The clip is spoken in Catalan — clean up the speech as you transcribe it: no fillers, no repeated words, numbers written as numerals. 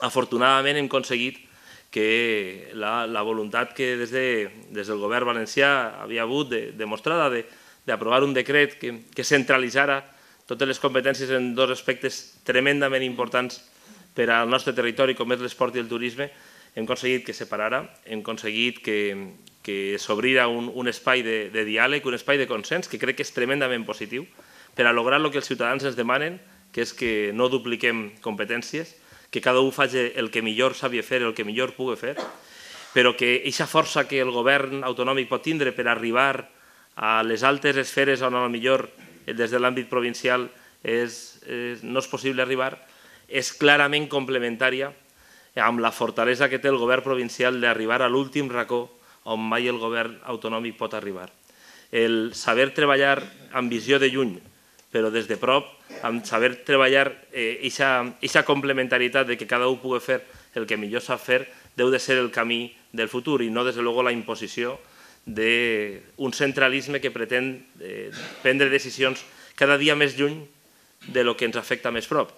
afortunadament hem aconseguit que la voluntat que des del govern valencià havia hagut demostrada d'aprovar un decret que centralitzara totes les competències en dos aspectes tremendament importants per al nostre territori, com és l'esport i el turisme, hem aconseguit que separara, hem aconseguit que s'obrira un espai de diàleg, un espai de consens, que crec que és tremendament positiu, per a lograr el que els ciutadans ens demanen, que és que no dupliquem competències, que cada un faci el que millor sabia fer, el que millor pugui fer, però que aquesta força que el govern autonòmic pot tindre per arribar a les altes esferes on potser des de l'àmbit provincial no és possible arribar, és clarament complementària amb la fortalesa que té el govern provincial d'arribar a l'últim racó on mai el govern autonòmic pot arribar. El saber treballar amb visió de lluny, però des de prop, amb saber treballar aquesta complementarietat de que cada un pugui fer el que millor sap fer, deu de ser el camí del futur i no, des de luego, la imposició d'un centralisme que pretén prendre decisions cada dia més lluny de lo que ens afecta més prop.